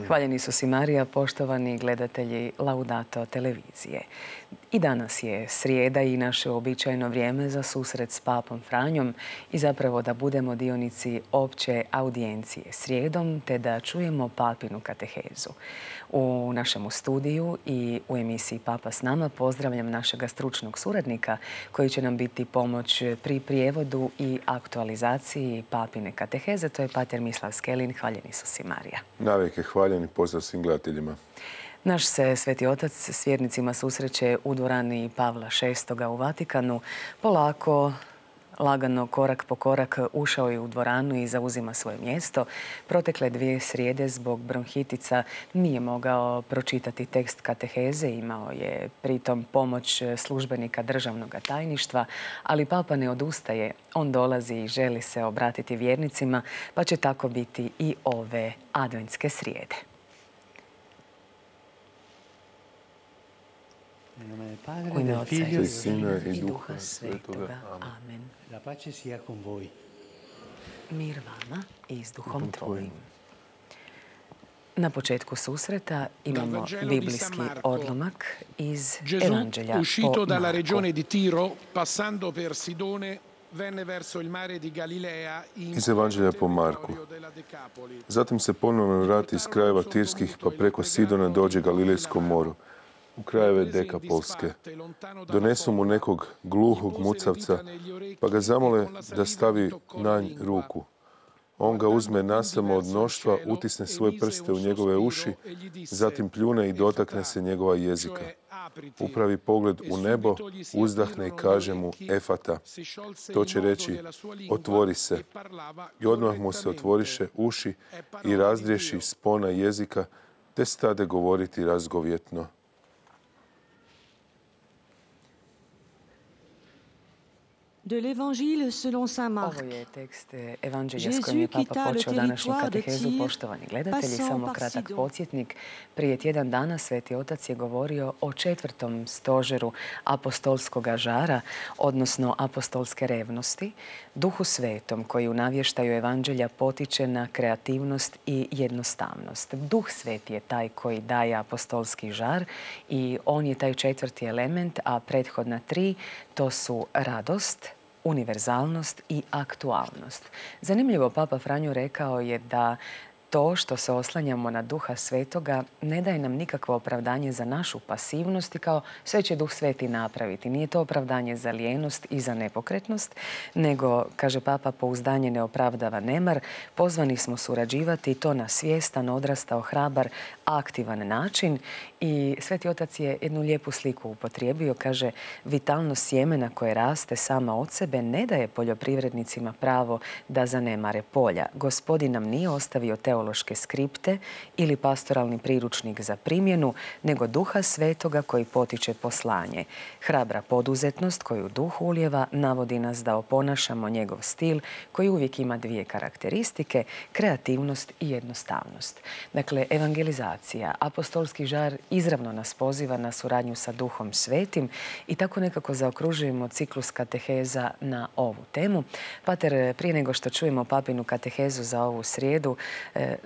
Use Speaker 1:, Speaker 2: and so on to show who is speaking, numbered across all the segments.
Speaker 1: Hvaljeni Isus i Marija, poštovani gledatelji Laudato televizije. I danas je srijeda i naše uobičajeno vrijeme za susret s Papom Franjom i zapravo da budemo dionici opće audijencije srijedom te da čujemo papinu katehezu. U našemu studiju i u emisiji Papa s nama pozdravljam našega stručnog suradnika koji će nam biti pomoć pri prijevodu i aktualizaciji papine kateheze. To je pater Mislav Skelin. Hvaljeni Isus i Marija.
Speaker 2: Navijek je hvaljen i pozdrav svim gledateljima.
Speaker 1: Naš se Sveti Otac s vjernicima susreće u dvorani Pavla VI u Vatikanu. Polako, lagano, korak po korak ušao je u dvoranu i zauzima svoje mjesto. Protekle 2 srijede zbog bronhitica nije mogao pročitati tekst kateheze, imao je pritom pomoć službenika državnog tajništva, ali Papa ne odustaje. On dolazi i želi se obratiti vjernicima, pa će tako biti i ove adventske srijede. U ime Oca i Sina i Duha Svetoga. Amen. Mir vama i s duhom tvojim. Na početku susreta imamo biblijski odlomak iz Evanđelja po Marku.
Speaker 2: Iz Evanđelja po Marku. Zatim se ponovno vrati iz krajeva Tirskih pa preko Sidona dođe Galilejskom moru, u krajeve Dekapolske. Donesu mu nekog gluhog mucavca, pa ga zamole da stavi na nj ruku. On ga uzme nasamo od mnoštva, utisne svoje prste u njegove uši, zatim pljune i dotakne se njegova jezika. Upravi pogled u nebo, uzdahne i kaže mu Efata. To će reći otvori se. I odmah mu se otvoriše uši i razdriješi spona jezika, te stade govoriti razgovjetno.
Speaker 1: Ovo je tekst Evanđelja s kojim je Papa počeo današnju katehezu. Poštovani gledatelji, samo kratak podsjetnik. Prije tjedan dana Sveti Otac je govorio o 4. stožeru apostolskoga žara, odnosno apostolske revnosti, Duhu Svetom koji u navještaju Evanđelja potiče na kreativnost i jednostavnost. Duh Sveti je taj koji daje apostolski žar i on je taj 4. element, a prethodna 3 to su radost, univerzalnost i aktualnost. Zanimljivo, Papa Franjo rekao je da to što se oslanjamo na Duha Svetoga ne daje nam nikakvo opravdanje za našu pasivnost i kao sve će Duh Sveti napraviti. Nije to opravdanje za lijenost i za nepokretnost, nego, kaže Papa, pouzdanje ne opravdava nemar. Pozvani smo surađivati i to na svjestan, odrastao, hrabar, aktivan način. I Sveti Otac je jednu lijepu sliku upotrijebio. Kaže, vitalnost sjemena koje raste sama od sebe ne daje poljoprivrednicima pravo da zanemare polja. Gospodin nam nije ostavio teološke skripte ili pastoralni priručnik za primjenu, nego Duha Svetoga koji potiče poslanje. Hrabra poduzetnost koju Duh ulijeva navodi nas da oponašamo njegov stil koji uvijek ima 2 karakteristike, kreativnost i jednostavnost. Dakle, evangelizacija, apostolski žar izravno nas poziva na suradnju sa Duhom Svetim i tako nekako zaokružujemo ciklus kateheza na ovu temu. Pater, prije nego što čujemo papinu katehezu za ovu srijedu,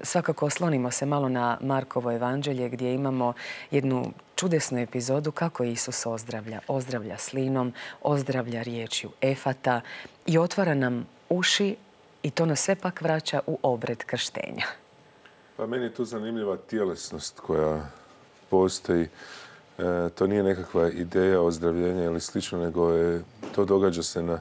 Speaker 1: svakako oslonimo se malo na Markovo evanđelje gdje imamo jednu čudesnu epizodu kako Isus ozdravlja. Ozdravlja slinom, ozdravlja riječju Efata i otvara nam uši i to nas sve pak vraća u obred krštenja.
Speaker 2: Pa meni je tu zanimljiva tjelesnost koja postoji. To nije nekakva ideja ozdravljenja ili slično, nego to događa se na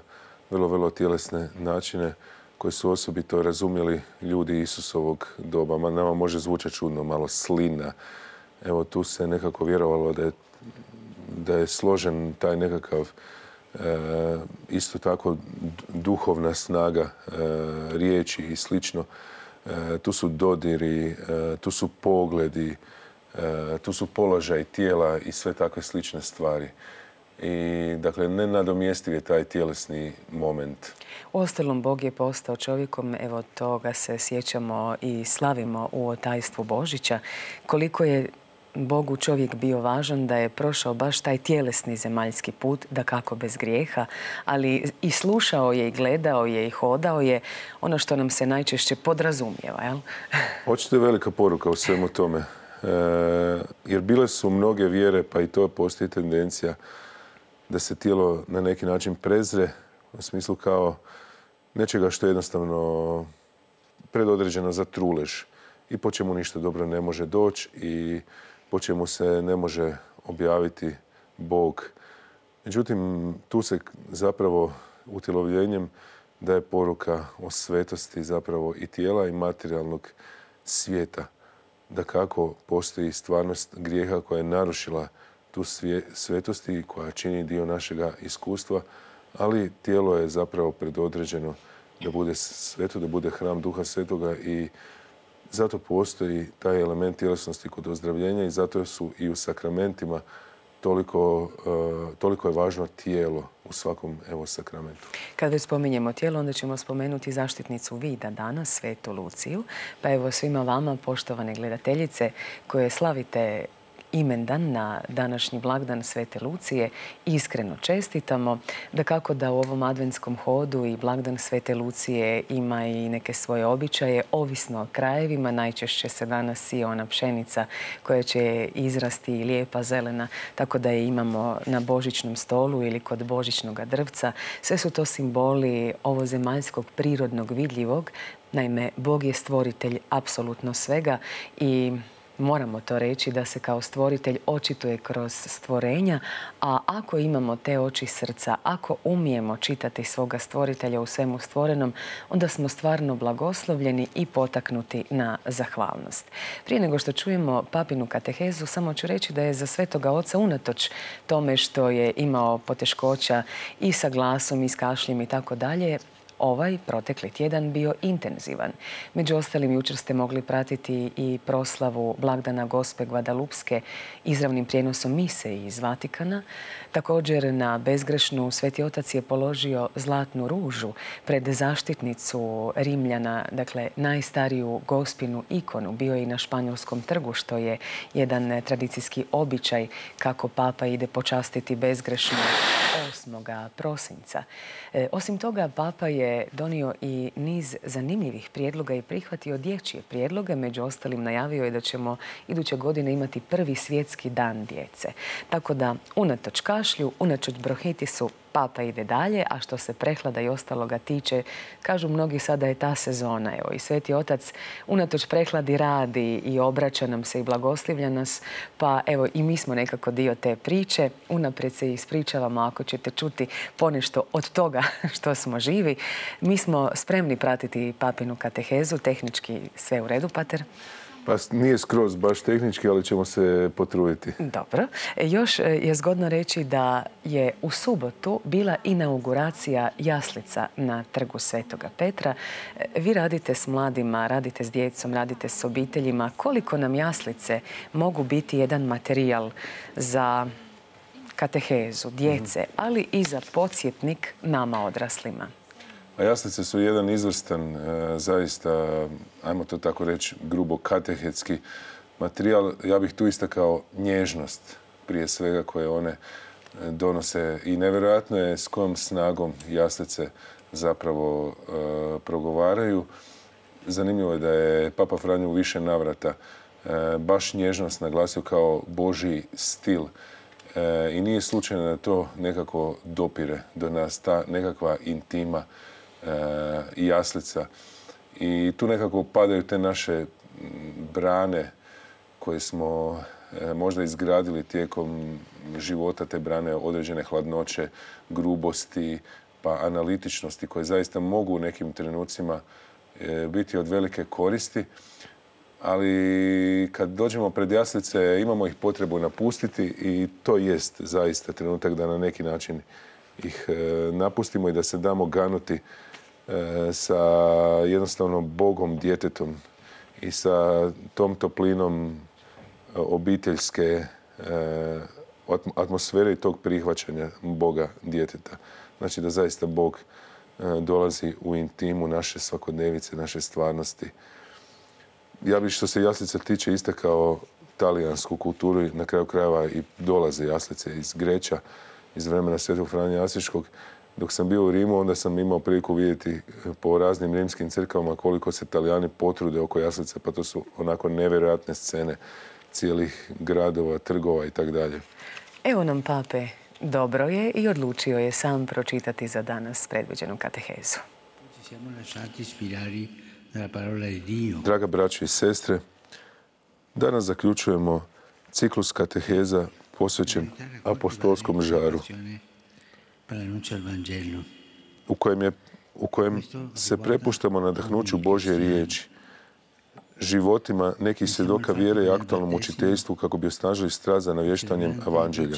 Speaker 2: vrlo, vrlo tjelesne načine koji su osobito razumjeli ljudi Isusovog doba. Nama može zvučati čudno, malo slina. Evo, tu se nekako vjerovalo da je složen taj nekakav isto tako duhovna snaga riječi i slično. Tu su dodiri, tu su pogledi, tu su položaj tijela i sve takve slične stvari. I, dakle, nenadomjestiv je taj tjelesni moment.
Speaker 1: Uostalom, Bog je postao čovjekom, evo toga se sjećamo i slavimo u otajstvu Božića. Koliko je Bogu čovjek bio važan, da je prošao baš taj tjelesni zemaljski put, dakako bez grijeha, ali i slušao je i gledao je i hodao je ono što nam se najčešće podrazumijeva, jel?
Speaker 2: Očito je velika poruka u svemu tome. Jer bile su mnoge vjere, pa i to postoji tendencija da se tijelo na neki način prezre, u smislu kao nečega što je jednostavno predodređeno za trulež i po čemu ništa dobro ne može doći i po čemu se ne može objaviti Bog. Međutim, tu se zapravo utjelovljenjem daje poruka o svetosti zapravo i tijela i materijalnog svijeta. Da kako postoji stvarnost grijeha koja je narušila tu svetost i koja čini dio našega iskustva, ali tijelo je zapravo predodređeno da bude sveto, da bude hram Duha Svetoga i zato postoji taj element tjelesnosti kod ozdravljenja i zato su i u sakramentima toliko je važno tijelo u svakom sakramentu.
Speaker 1: Kad već spominjemo tijelo, onda ćemo spomenuti zaštitnicu vida danas, Svetu Luciju. Pa evo svima vama, poštovane gledateljice, koje slavite imendan na današnji blagdan Svete Lucije, iskreno čestitamo. Dakako da u ovom adventskom hodu i blagdan Svete Lucije ima i neke svoje običaje, ovisno o krajevima. Najčešće se danas sije ona pšenica koja će izrasti lijepa, zelena, tako da je imamo na božićnom stolu ili kod božićnog drvca. Sve su to simboli ovozemaljskog, prirodnog, vidljivog. Naime, Bog je stvoritelj apsolutno svega i moramo to reći da se kao stvoritelj očituje kroz stvorenja, a ako imamo te oči srca, ako umijemo čitati svoga stvoritelja u svemu stvorenom, onda smo stvarno blagoslovljeni i potaknuti na zahvalnost. Prije nego što čujemo papinu katehezu, samo ću reći da je za Svetoga Oca, unatoč tome što je imao poteškoća i sa glasom i s kašljem i tako dalje, ovaj protekli tjedan bio intenzivan. Među ostalim, jučer ste mogli pratiti i proslavu blagdana Gospe Gvadalupske izravnim prijenosom mise iz Vatikana. Također na bezgrešnu Sveti Otac je položio zlatnu ružu pred zaštitnicu Rimljana, dakle najstariju Gospinu ikonu. Bio je i na Španjolskom trgu, što je jedan tradicijski običaj kako papa ide počastiti bezgrešnu 8. prosinca. Osim toga, papa je donio i niz zanimljivih prijedloga i prihvatio dječje prijedloge. Među ostalim najavio je da ćemo iduće godine imati prvi svjetski dan djece. Tako da, unatoč kašlju, unatoč bronhitisu, papa ide dalje, a što se prehlada i ostaloga tiče, kažu mnogi sada je ta sezona. Evo, i Sveti Otac unatoč prehladi radi i obraća nam se i blagoslivlja nas, pa evo i mi smo nekako dio te priče. Unaprijed se ispričavamo ako ćete čuti ponešto od toga što smo živi. Mi smo spremni pratiti papinu katehezu, tehnički sve u redu, pater?
Speaker 2: Pa nije skroz baš tehnički, ali ćemo se potruditi.
Speaker 1: Dobro. Još je zgodno reći da je u subotu bila inauguracija jaslica na trgu Svetoga Petra. Vi radite s mladima, radite s djecom, radite s obiteljima. Koliko nam jaslice mogu biti jedan materijal za katehezu djece, ali i za podsjetnik nama odraslima?
Speaker 2: A jaslice su jedan izvrstan, zaista, ajmo to tako reći, grubo katehetski materijal. Ja bih tu istakao nježnost prije svega koje one donose i nevjerojatno je s kojom snagom jaslice zapravo progovaraju. Zanimljivo je da je Papa Franjo u više navrata baš nježnost naglasio kao Božji stil. I nije slučajno da to nekako dopire do nas, ta nekakva intima i jaslica. I tu nekako padaju te naše brane koje smo možda izgradili tijekom života, te brane određene hladnoće, grubosti, pa analitičnosti koje zaista mogu u nekim trenucima biti od velike koristi. Ali kad dođemo pred jaslice imamo ih potrebu napustiti i to jest zaista trenutak da na neki način ih napustimo i da se damo ganuti sa jednostavno Bogom djetetom i sa tom toplinom obiteljske atmosfere i tog prihvaćanja Boga djeteta. Znači da zaista Bog dolazi u intimu naše svakodnevice, naše stvarnosti. Ja bih što se jaslica tiče istakao talijansku kulturu i na kraju krajeva i dolaze jaslice iz Greća, iz vremena Svetog Franje Asiškog. Dok sam bio u Rimu, onda sam imao priliku vidjeti po raznim rimskim crkvama koliko se Talijani potrude oko jaslica, pa to su onako nevjerojatne scene cijelih gradova, trgova i tako dalje.
Speaker 1: Evo nam pape, dobro je i odlučio je sam pročitati za danas predviđenu katehezu.
Speaker 2: Draga braćo i sestre, danas zaključujemo ciklus kateheza posvećen apostolskom žaru, u kojem se prepuštamo nadahnuću Božje riječi, životima nekih svjedoka vjere i aktualnom učiteljstvu kako bi osnažili strast za navještanjem evanđelja.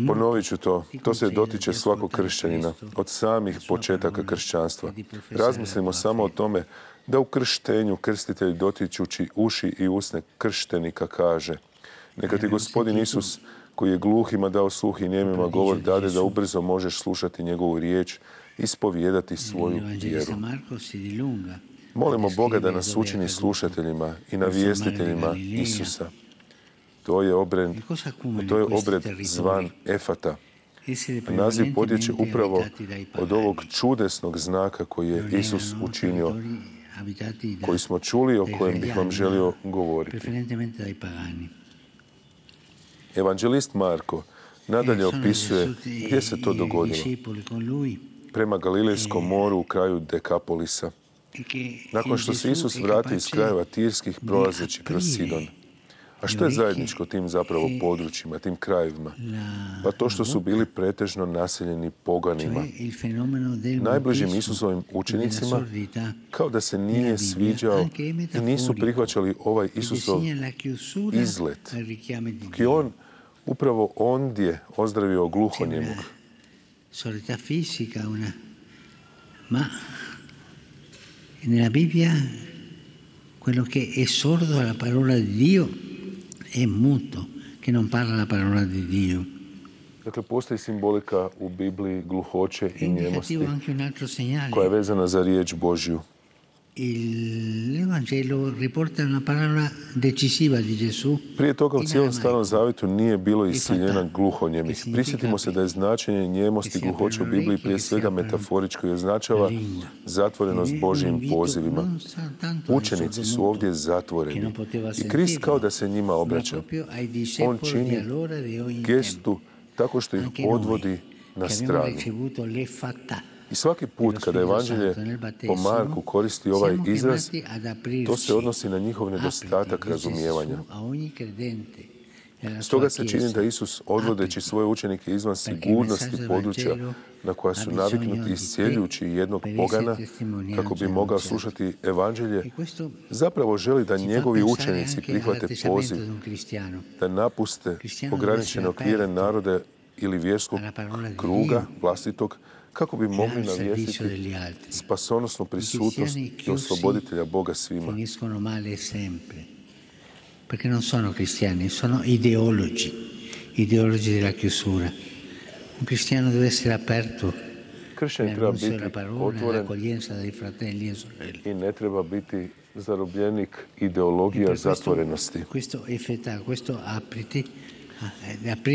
Speaker 2: Ponovit ću to. To se dotiče svakog kršćanina, od samih početaka kršćanstva. Razmislimo samo o tome da u krštenju krstitelj dotičući uši i usne krštenika kaže: neka ti Gospodin Isus, koji je gluhima dao sluh i njemima govor, dade da ubrzo možeš slušati njegovu riječ, ispovijedati svoju vjeru. Molimo Boga da nas učini slušateljima i navjestiteljima Isusa. To je obred zvan Efata. Naziv potječe upravo od ovog čudesnog znaka koji je Isus učinio, koji smo čuli, o kojem bih vam želio govoriti. Evanđelist Marko nadalje opisuje gdje se to dogodilo. Prema Galilejskom moru u kraju Dekapolisa. Nakon što se Isus vratio iz krajeva Tirskih prolazeći kroz Sidon. A što je zajedničko tim zapravo područjima, tim krajevima? Pa to što su bili pretežno naseljeni poganima. Najbližim Isusovim učenicima, kao da se nije sviđao i nisu prihvaćali ovaj Isusov izlet. Dok je on upravo ondje ozdravio gluhonjemog.
Speaker 3: Ma nella Bibbia quello che è sordo alla parola di Dio è muto, che non parla la parola di Dio.
Speaker 2: Dakle, postoji simbolika u Bibliji gluhoće i njemosti koja je vezana za riječ Božju.
Speaker 3: L'Evangelo riporta una parola decisiva di Gesù.
Speaker 2: Prije toga u cijelom Starom Zavjetu nije bilo isiljena gluhonjemih. Prisjetimo se da je značenje njemosti gluhoće u Bibliji prije svega metaforičko i označava zatvorenost Božjim pozivima. Učenici su ovdje zatvoreni i Krist kao da se njima obraća. On čini gestu tako što ih odvodi na stranu. I svaki put kada Evanđelje po Marku koristi ovaj izraz, to se odnosi na njihov nedostatak razumijevanja. Stoga se čini da Isus, odvodeći svoje učenike izvan sigurnosti područja na koja su naviknuti iscijeljujući jednog pogana, kako bi mogao slušati Evanđelje, zapravo želi da njegovi učenici prihvate poziv, da napuste ograničene okvire naroda ili vjerskog kruga vlastitog, kako bi mogli navijestiti spasonosnu prisutnost i osloboditelja Boga svima.
Speaker 3: Perché non sono cristiani, sono ideologi della chiusura. Un cristiano deve essere aperto
Speaker 2: Kršćanin treba biti otvoren i ne treba biti zarobljenik ideologija zatvorenosti.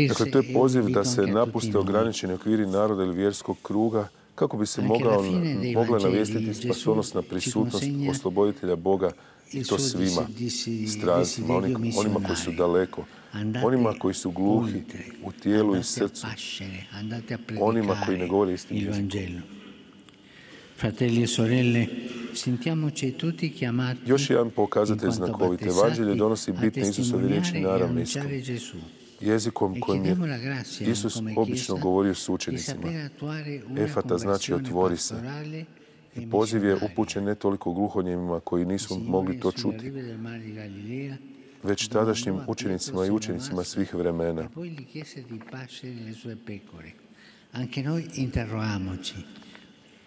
Speaker 2: Dakle, to je poziv da se napuste ograničeni okviri naroda ili vjerskog kruga kako bi se mogla navijestiti spasonosna prisutnost osloboditelja Boga i to svima, strancima, onima koji su daleko, onima koji su gluhi u tijelu i srcu, onima koji ne govore istim jezikom. Još jedan pokazatelj znakovit. Evanđelje donosi bitne Isusove riječi naravniskom, jezikom kojim je Isus obično govorio s učenicima. Efata znači otvori se. I poziv je upućen ne toliko gluhonjemima koji nisu mogli to čuti, već tadašnjim učenicima i učenicima svih vremena.
Speaker 3: Anche noi interrogiamoci.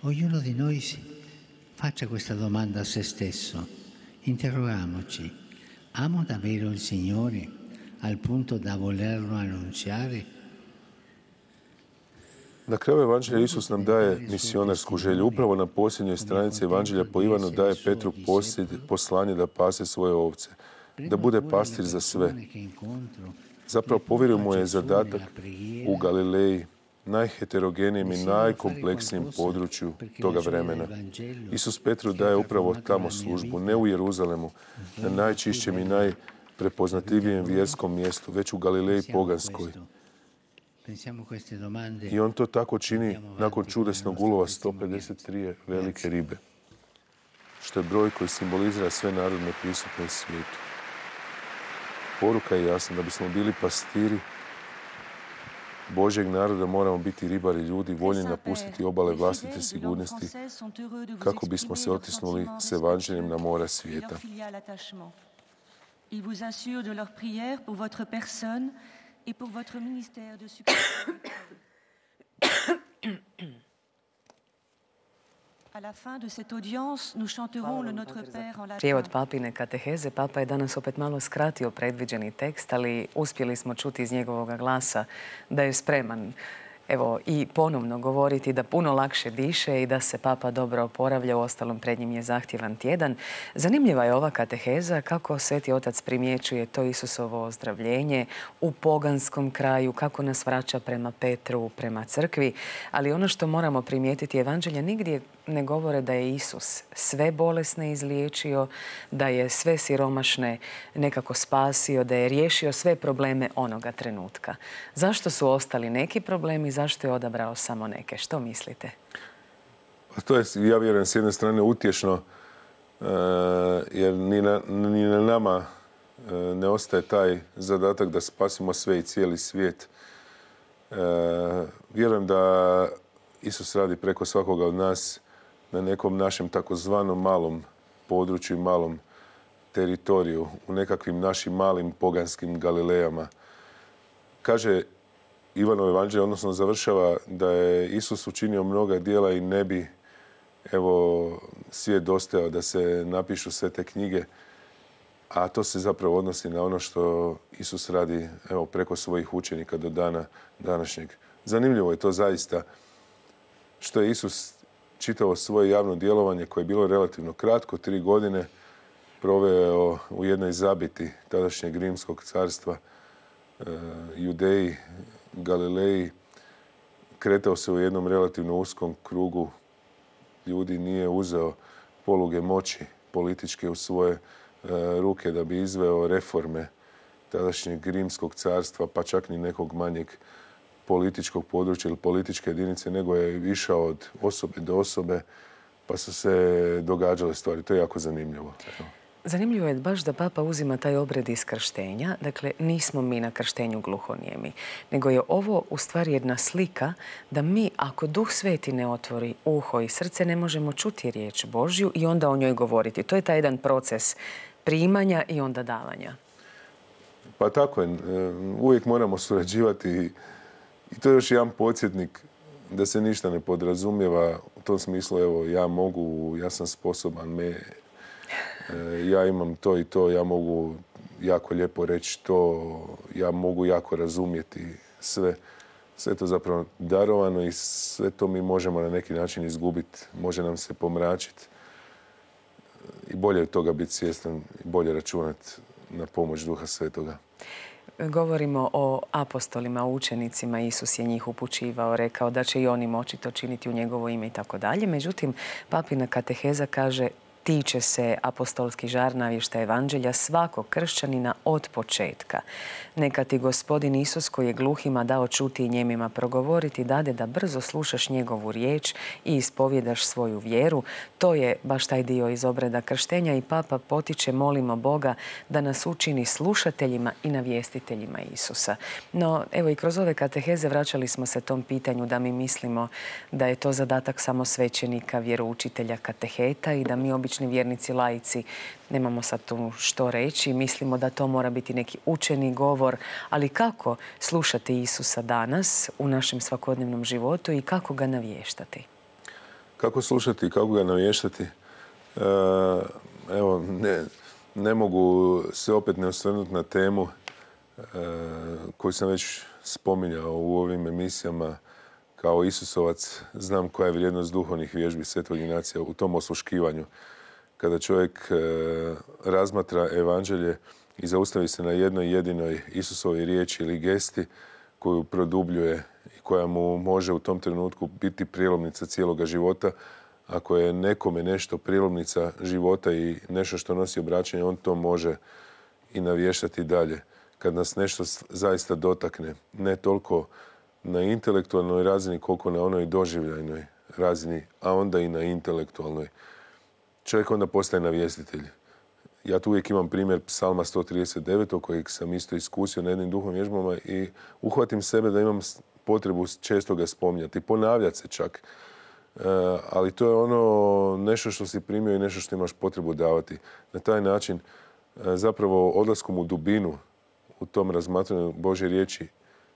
Speaker 3: Ognuno di noi faccia questa domanda a se stesso. Interrogiamoci. Amo davvero il Signore al punto da volerlo annunziare?
Speaker 2: Na kraju Evanđelja Isus nam daje misionarsku želju. Upravo na posljednjoj stranici Evanđelja po Ivanu daje Petru poslanje da pase svoje ovce, da bude pastir za sve. Zapravo povjerio mu je zadatak u Galileji, najheterogenijem i najkompleksnijem području toga vremena. Isus Petru daje upravo tamo službu, ne u Jeruzalemu, na najčišćem i najprepoznatljivijem vjerskom mjestu, već u Galileji poganskoj. I on to tako čini nakon čudesnog ulova 153 velike ribe, što je broj koji simbolizira sve narodne prisutne u svijetu. Poruka je jasna, da bismo bili pastiri Božjeg naroda moramo biti ribari ljudi, voljni napustiti obale vlastite sigurnosti kako bismo se otisnuli s Evanđeljem na mora svijeta.
Speaker 4: Il vous assure de leur prière pour votre personne et pour votre ministère de succès. À la fin de cette audience, nous chanterons le Notre Père en latin.
Speaker 1: Prijevod papine kateheze. Papa je danas opet malo skratio predviđeni tekst, ali uspjeli smo čuti iz njegovog glasa da je spreman i ponovno govoriti, da puno lakše diše i da se Papa dobro oporavlja. Uostalom, pred njim je zahtjevan tjedan. Zanimljiva je ova kateheza, kako Sveti Otac primjećuje to Isusovo ozdravljenje u poganskom kraju, kako nas vraća prema Petru, prema crkvi. Ali ono što moramo primijetiti, Evanđelja nigdje ne govore da je Isus sve bolesne izliječio, da je sve siromašne nekako spasio, da je riješio sve probleme onoga trenutka. Zašto su ostali neki problemi, zašto je odabrao samo neke? Što mislite?
Speaker 2: To je, ja vjerujem, s jedne strane utješno, jer ni na nama ne ostaje taj zadatak da spasimo sve i cijeli svijet. Vjerujem da Isus radi preko svakoga od nas na nekom našem takozvanom malom području i malom teritoriju, u nekakvim našim malim poganskim Galilejama. Kaže Ivanovo evanđelje, odnosno završava da je Isus učinio mnoga djela i ne bi svijet dostajao da se napišu sve te knjige, a to se zapravo odnosi na ono što Isus radi preko svojih učenika do dana današnjeg. Zanimljivo je to zaista što je Isus čitavo svoje javno djelovanje, koje je bilo relativno kratko, 3 godine, proveo u jednoj zabiti tadašnjeg Rimskog carstva, Judeji, Galileji. Kretao se u jednom relativno uskom krugu ljudi, nije uzeo poluge moći političke u svoje ruke da bi izveo reforme tadašnjeg Rimskog carstva, pa čak ni nekog manjeg političkog područja ili političke jedinice, nego je išao od osobe do osobe, pa su se događale stvari. To je jako zanimljivo.
Speaker 1: Zanimljivo je baš da Papa uzima taj obred iz krštenja. Dakle, nismo mi na krštenju gluhonijemi, nego je ovo u stvari jedna slika da mi, ako Duh Sveti ne otvori uho i srce, ne možemo čuti riječ Božju i onda o njoj govoriti. To je taj jedan proces primanja i onda davanja.
Speaker 2: Pa tako je. Uvijek moramo surađivati i to je još jedan podsjetnik da se ništa ne podrazumijeva u tom smislu, evo, ja mogu, ja sam sposoban, ja imam to i to, ja mogu jako lijepo reći to, ja mogu jako razumjeti sve. Sve to zapravo darovano i sve to mi možemo na neki način izgubiti, može nam se pomračiti. I bolje od toga biti svjestan i bolje računati na pomoć Duha Svetoga.
Speaker 1: Govorimo o apostolima, o učenicima. Isus je njih upućivao, rekao da će i oni moći to činiti u njegovo ime i tako dalje. Međutim, papina kateheza kaže tiče se apostolski žar navještaja evanđelja svakog kršćanina od početka. Neka ti Gospodin Isus, koji je gluhima dao čuti i njemima progovoriti, dade da brzo slušaš njegovu riječ i ispovjedaš svoju vjeru. To je baš taj dio iz obreda krštenja i Papa potiče, molimo Boga da nas učini slušateljima i navjestiteljima Isusa. No, evo i kroz ove kateheze vraćali smo se tom pitanju da mi mislimo da je to zadatak samo svećenika, vjeroučitelja, kateheta i da mi obični vjernici, laici, nemamo sad tu što reći. Mislimo da to mora biti neki učeni govor, ali kako slušati Isusa danas u našem svakodnevnom životu i kako ga navještati?
Speaker 2: Kako slušati i kako ga navještati? Evo, ne mogu se opet ne osvrnuti na temu koju sam već spominjao u ovim emisijama, kao Isusovac znam koja je vrijednost duhovnih vježbi Svetog Ignacija u tom osluškivanju. Kada čovjek razmatra evanđelje i zaustavi se na jednoj jedinoj Isusovoj riječi ili gesti koju produbljuje i koja mu može u tom trenutku biti prijelomnica cijeloga života. Ako je nekome nešto prijelomnica života i nešto što nosi obraćanje, on to može i navještati dalje. Kad nas nešto zaista dotakne, ne toliko na intelektualnoj razini koliko na onoj doživljajnoj razini, a onda i na intelektualnoj. Čovjek onda postaje navjestitelj. Ja tu uvijek imam primjer Psalma 139. kojeg sam isto iskusio na jednim duhovnim vježbama i uhvatim sebe da imam potrebu često ga spominjati, ponavljati se čak. Ali to je ono nešto što si primio i nešto što imaš potrebu davati. Na taj način, zapravo odlaskom u dubinu, u tom razmatranju Božje riječi,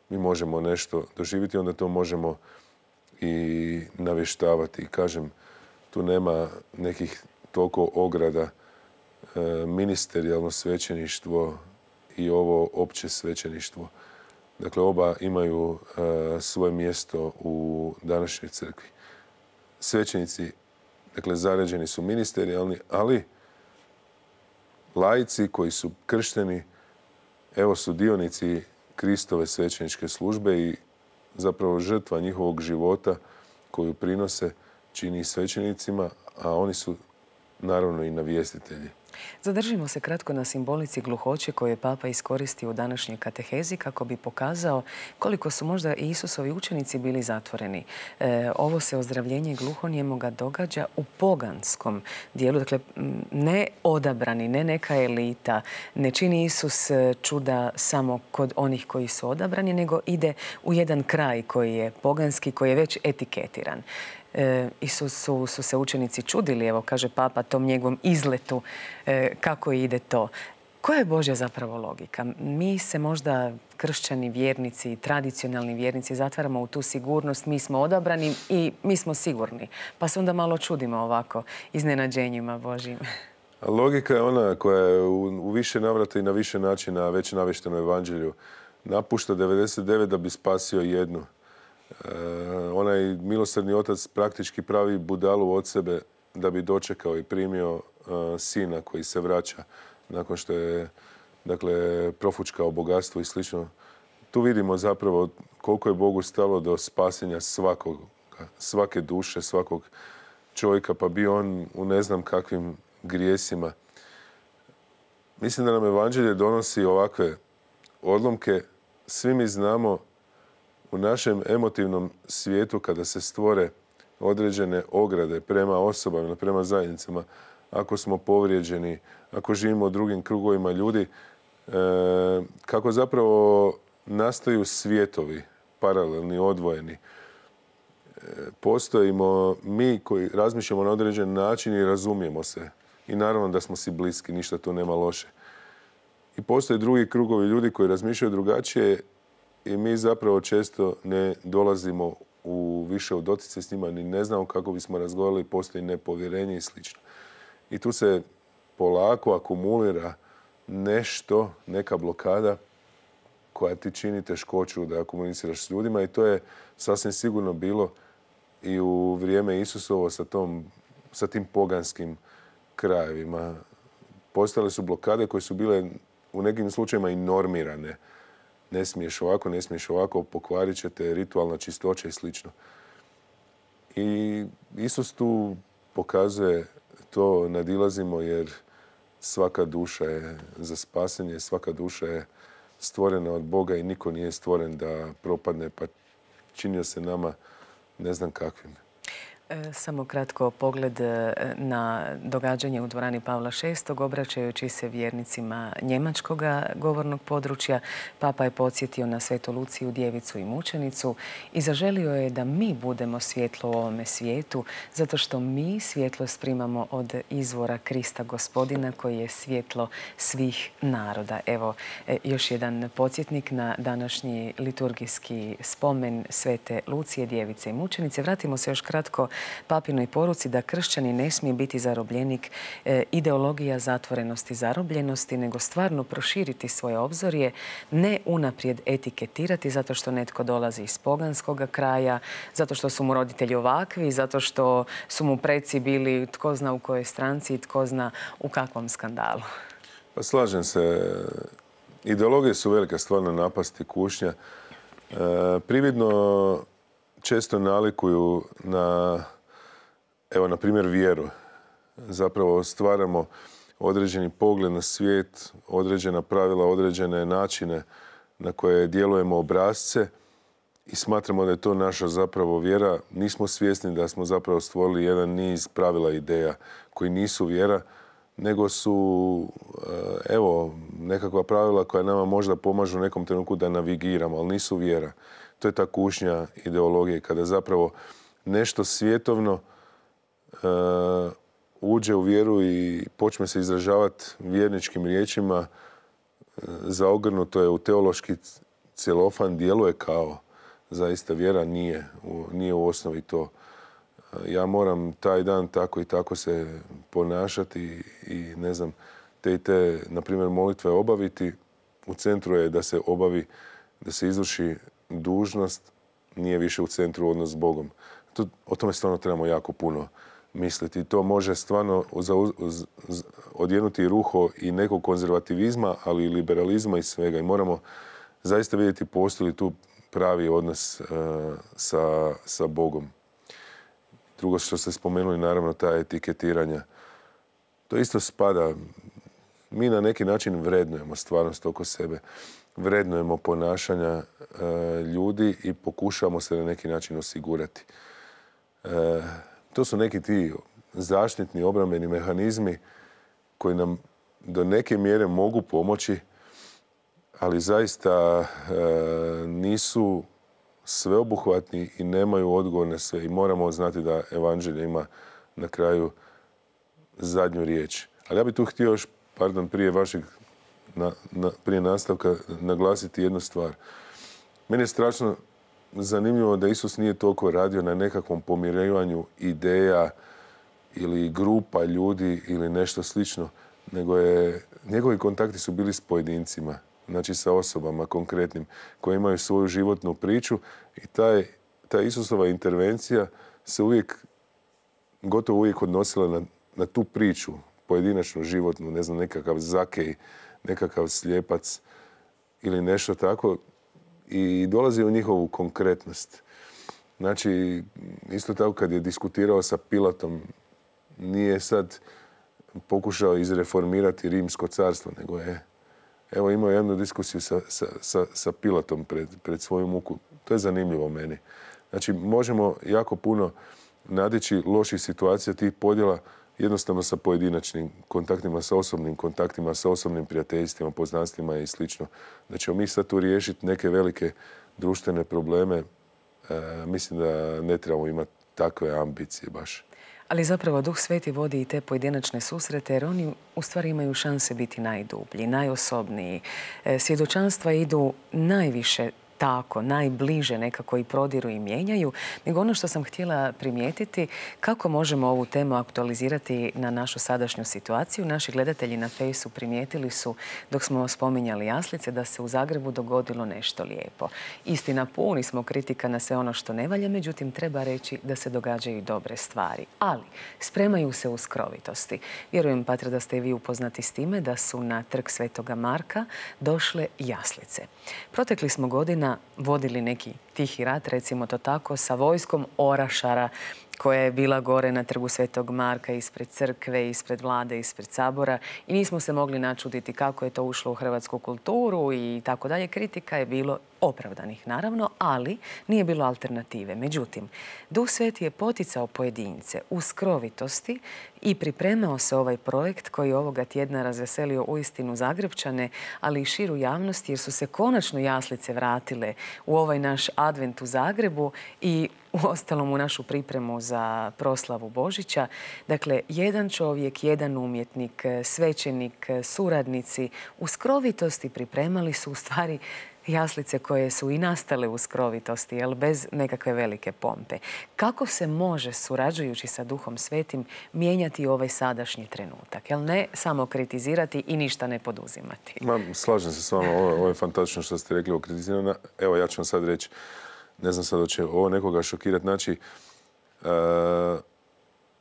Speaker 2: mi možemo nešto doživjeti, onda to možemo i navještavati. Kažem, tu nema nekih toliko ograda. Ministerijalno svećeništvo i ovo opće svećeništvo. Dakle, oba imaju svoje mjesto u današnjoj crkvi. Svećenici, dakle, zaređeni su ministerijalni, ali laici koji su kršteni, evo su dionici Kristove svećeničke službe i zapravo žrtva njihovog života koju prinose čini svećenicima, a oni su naravno i navjestitelji.
Speaker 1: Zadržimo se kratko na simbolici gluhoće koju je Papa iskoristio u današnjoj katehezi kako bi pokazao koliko su možda i Isusovi učenici bili zatvoreni. Ovo se ozdravljenje gluhonijemoga događa u poganskom dijelu, dakle ne odabrani, ne neka elita, ne čini Isus čuda samo kod onih koji su odabrani, nego ide u jedan kraj koji je poganski, koji je već etiketiran. Isusu su se učenici čudili, evo kaže Papa, tom njegovom izletu, kako ide to. Koja je Božja zapravo logika? Mi se možda kršćani vjernici, tradicionalni vjernici zatvaramo u tu sigurnost, mi smo odabrani i mi smo sigurni. Pa se onda malo čudimo ovako iznenađenjima Božjim.
Speaker 2: Logika je ona koja je u više navrata i na više načina već navješteno evanđelju. Napušta 99 da bi spasio jednu. Onaj milosrdni otac praktički pravi budalu od sebe da bi dočekao i primio sina koji se vraća nakon što je, dakle, profučkao bogatstvo i slično. Tu vidimo zapravo koliko je Bogu stalo do spasenja svake duše, svakog čovjeka, pa bio on u ne znam kakvim grijesima. Mislim da nam evanđelje donosi ovakve odlomke. Svi mi znamo u našem emotivnom svijetu kada se stvore određene ograde prema osobama, prema zajednicama, ako smo povrijeđeni, ako živimo u drugim krugovima ljudi, kako zapravo nastaju svijetovi, paralelni, odvojeni. Postojimo mi koji razmišljamo na određen način i razumijemo se. I naravno da smo si bliski, ništa tu nema loše. I postoje drugi krugovi ljudi koji razmišljaju drugačije i mi zapravo često ne dolazimo više u doticaj s njima, ni ne znamo kako bismo razgovarali, postoji nepovjerenje i sl. I tu se polako akumulira nešto, neka blokada koja ti čini teškoću da komuniciraš s ljudima i to je sasvim sigurno bilo i u vrijeme Isusovo sa tim poganskim krajevima. Postojale su blokade koje su bile u nekim slučajevima i normirane. Ne smiješ ovako, pokvarit ćete, ritualna čistoća i sl. I Isus tu pokazuje to, nadilazimo jer svaka duša je za spasenje, svaka duša je stvorena od Boga i niko nije stvoren da propadne, pa činio se nama ne znam kakvim.
Speaker 1: Samo kratko pogled na događanje u dvorani Pavla VI. Obraćajući se vjernicima njemačkog govornog područja, Papa je podsjetio na Svetu Luciju, djevicu i mučenicu i zaželio je da mi budemo svjetlo u ovome svijetu, zato što mi svjetlost primamo od izvora Krista Gospodina koji je svjetlo svih naroda. Evo, još jedan podsjetnik na današnji liturgijski spomen Svete Lucije, djevice i mučenice. Vratimo se još kratko papinoj poruci da kršćani ne smije biti zarobljenik ideologija zatvorenosti, zarobljenosti, nego stvarno proširiti svoje obzorje, ne unaprijed etiketirati zato što netko dolazi iz poganskog kraja, zato što su mu roditelji ovakvi, zato što su mu preci bili tko zna u kojoj stranci i tko zna u kakvom skandalu.
Speaker 2: Pa slažem se. Ideologije su velika stvarno napast i kušnja. Prividno često nalikuju na, evo, na primjer, vjeru. Zapravo stvaramo određeni pogled na svijet, određena pravila, određene načine na koje djelujemo, obrasce, i smatramo da je to naša zapravo vjera. Nismo svjesni da smo zapravo stvorili jedan niz pravila i ideja koji nisu vjera, nego su, evo, nekakva pravila koja nama možda pomažu u nekom trenutku da navigiramo, ali nisu vjera. To je ta kušnja ideologije, kada zapravo nešto svjetovno uđe u vjeru i počne se izražavati vjerničkim riječima, zaogrnuto je u teološki celofan, djeluje kao zaista vjera, nije u osnovi to. Ja moram taj dan tako i tako se ponašati i ne znam, te, na primjer, molitve obaviti. U centru je da se obavi, da se izvrši dužnost, nije više u centru odnos s Bogom. O tome stvarno trebamo jako puno misliti. To može stvarno odjenuti ruho i nekog konzervativizma, ali i liberalizma i svega. I moramo zaista vidjeti postoji li tu pravi odnos sa Bogom. Drugo što ste spomenuli, naravno, ta etiketiranja. To isto spada. Mi na neki način vrednujemo stvarnost oko sebe. Vrednujemo ponašanja ljudi i pokušavamo se na neki način osigurati. To su neki ti zaštitni, obrambeni mehanizmi koji nam do neke mjere mogu pomoći, ali zaista nisu sveobuhvatni i nemaju odgovor na sve. I moramo znati da evanđelje ima na kraju zadnju riječ. Ali ja bih tu htio još, prije nastavka naglasiti jednu stvar. Meni je strašno zanimljivo da Isus nije toliko radio na nekakvom pomirivanju ideja ili grupa ljudi ili nešto slično, nego njegovi kontakti su bili s pojedincima, znači sa osobama konkretnim, koje imaju svoju životnu priču, i ta Isusova intervencija se gotovo uvijek odnosila na tu priču, pojedinačnu, životnu, ne znam, nekakav Zakej, nekakav slijepac ili nešto tako, i dolazi u njihovu konkretnost. Znači, isto tako kad je diskutirao sa Pilatom, nije sad pokušao izreformirati Rimsko carstvo, nego je imao jednu diskusiju sa Pilatom pred svoju muku. To je zanimljivo meni. Znači, možemo jako puno nadići loših situacija, tih podjela, jednostavno sa pojedinačnim kontaktima, sa osobnim kontaktima, sa osobnim prijateljstvima, poznanstvima i slično. Da ćemo mi sad tu riješiti neke velike društvene probleme. Mislim da ne trebamo imati takve ambicije baš.
Speaker 1: Ali zapravo Duh Sveti vodi i te pojedinačne susrete, jer oni u stvari imaju šanse biti najdublji, najosobniji. Svjedočanstva idu najviše tako, najbliže nekako i prodiru i mijenjaju, nego ono što sam htjela primijetiti, kako možemo ovu temu aktualizirati na našu sadašnju situaciju. Naši gledatelji na Fejsu primijetili su, dok smo spominjali jaslice, da se u Zagrebu dogodilo nešto lijepo. Istina, puni smo kritika na sve ono što ne valja, međutim, treba reći da se događaju dobre stvari. Ali spremaju se u skrovitosti. Vjerujem, Patre, da ste i vi upoznati s time da su na Trg Svetoga Marka došle jaslice. Protekli smo godina vodili neki tihi rat, recimo to tako, sa vojskom orašara koja je bila gore na Trgu Svetog Marka, ispred crkve, ispred vlade, ispred sabora, i nismo se mogli načuditi kako je to ušlo u hrvatsku kulturu i tako dalje. Kritika je bilo opravdanih, naravno, ali nije bilo alternative. Međutim, Duh Sveti je poticao pojedince u skrovitosti i pripremao se ovaj projekt koji ovoga tjedna razveselio uistinu Zagrepčane, ali i širu javnost, jer su se konačno jaslice vratile u ovaj naš advent u Zagrebu i uostalom u našu pripremu za proslavu Božića. Dakle, jedan čovjek, jedan umjetnik, svećenik, suradnici u skrovitosti pripremali su u stvari Jaslice koje su i nastale u skrovitosti, bez nekakve velike pompe. Kako se može, surađujući sa Duhom Svetim, mijenjati ovaj sadašnji trenutak? Ne samo kritizirati i ništa ne poduzimati?
Speaker 2: Slažem se s vama. Ovo je fantastično što ste rekli o kritiziranju. Evo, ja ću vam sad reći, ne znam sad da će ovo nekoga šokirati. Znači,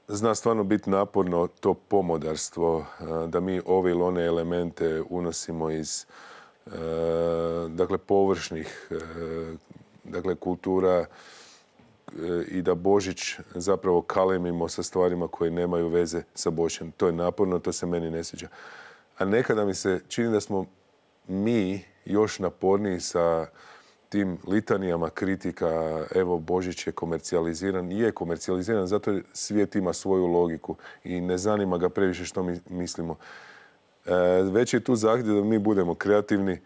Speaker 2: zna stvarno biti naporno to pomodarstvo, da mi ove ili one elemente unosimo iz površnih kultura i da Božić zapravo kalemimo sa stvarima koje nemaju veze sa Božjem. To je naporno, to se meni ne sviđa. A nekada mi se čini da smo mi još naporniji sa tim litanijama kritika. Evo, Božić je komercijaliziran. Je komercijaliziran, zato svijet ima svoju logiku i ne zanima ga previše što mi mislimo. Već je tu zahtjev da mi budemo kreativni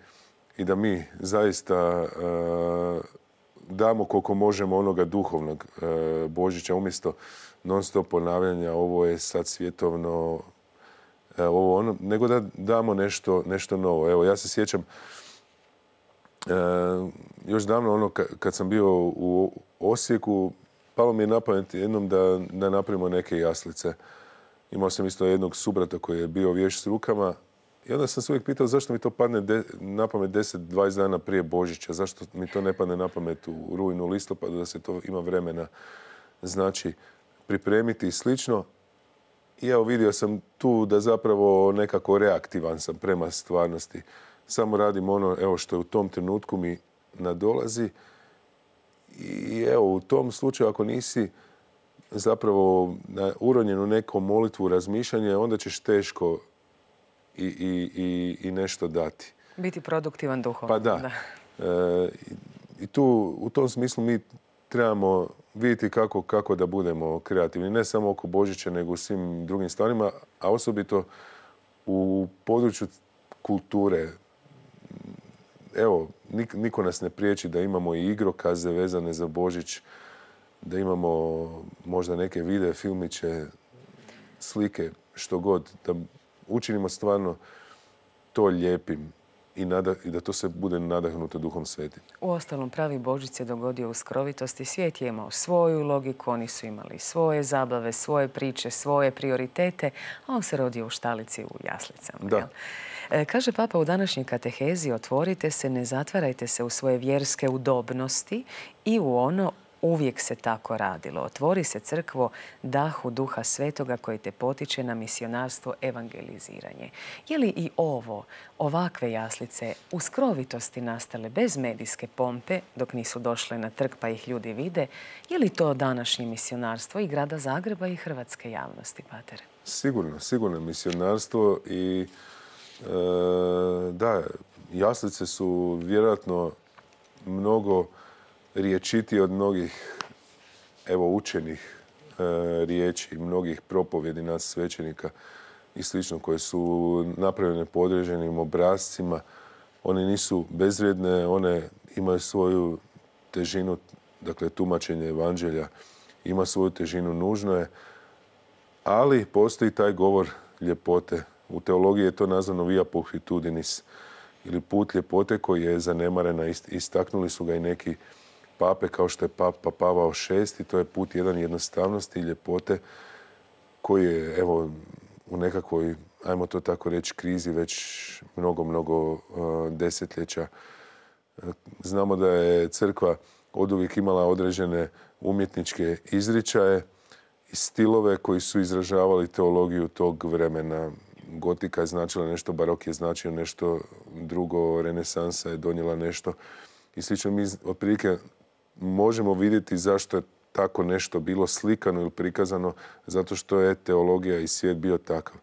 Speaker 2: i da mi zaista damo koliko možemo onoga duhovnog Božića umjesto non-stop ponavljanja ovo je sad svjetovno, ovo ono, nego da damo nešto novo. Evo, ja se sjećam još davno ono kad sam bio u Osijeku, palo mi je na pamet jednom da napravimo neke jaslice. Imao sam isto jednog subrata koji je bio vješt s rukama i onda sam se uvijek pitao zašto mi to padne na pamet 10-20 dana prije Božića. Zašto mi to ne padne na pamet u rujnu, listopadu, da se to ima vremena znači pripremiti i slično. I evo, vidio sam tu da zapravo nekako reaktivan sam prema stvarnosti. Samo radim ono evo što je u tom trenutku mi nadolazi. I evo, u tom slučaju ako nisi zapravo uronjen u neku molitvu, razmišljanje, onda ćeš teško i nešto dati.
Speaker 1: Biti produktivan duhovno.
Speaker 2: Pa da. I tu, u tom smislu mi trebamo vidjeti kako da budemo kreativni. Ne samo oko Božića, nego u svim drugim stvarima, a osobito u području kulture. Evo, niko nas ne priječi da imamo i igrokaze vezane za Božić, da imamo možda neke videe, filmiće, slike, što god, da učinimo stvarno to lijepim i da to se bude nadahnuto Duhom Svetim.
Speaker 1: Uostalom, pravi Božić se dogodio u skrovitosti. Svijet je imao svoju logiku, oni su imali svoje zabave, svoje priče, svoje prioritete, a on se rodio u štalici u jaslicama.
Speaker 2: Da.
Speaker 1: Kaže Papa u današnjoj katehezi: otvorite se, ne zatvarajte se u svoje vjerske udobnosti i u ono uvijek se tako radilo. Otvori se, crkvo, dahu Duha Svetoga koji te potiče na misionarstvo, evangeliziranje. Je li i ovakve jaslice u skrovitosti nastale bez medijske pompe, dok nisu došle na trg pa ih ljudi vide, je li to današnje misionarstvo i grada Zagreba i hrvatske javnosti, pater?
Speaker 2: Sigurno misionarstvo i da, jaslice su vjerojatno mnogo riječitije od mnogih učenih riječi, mnogih propovjedi nas svećenika i slično, koje su napravljene po određenim obrascima. One nisu bezvrijedne, one imaju svoju težinu, dakle tumačenje evanđelja ima svoju težinu, nužno je, ali postoji taj govor ljepote. U teologiji je to nazvano via pulchritudinis, ili put ljepote koji je zanemarena. Istaknuli su ga i neki pape, kao što je Papa Pavao VI. To je put jedan jednostavnosti i ljepote koji je u nekakvoj, ajmo to tako reći, krizi već mnogo desetljeća. Znamo da je crkva oduvijek imala određene umjetničke izričaje i stilove koji su izražavali teologiju tog vremena. Gotika je značila nešto, barok je značio nešto drugo, renesansa je donijela nešto i slično. Mi otprilike možemo vidjeti zašto je tako nešto bilo slikano ili prikazano, zato što je teologija i svijet bio takav.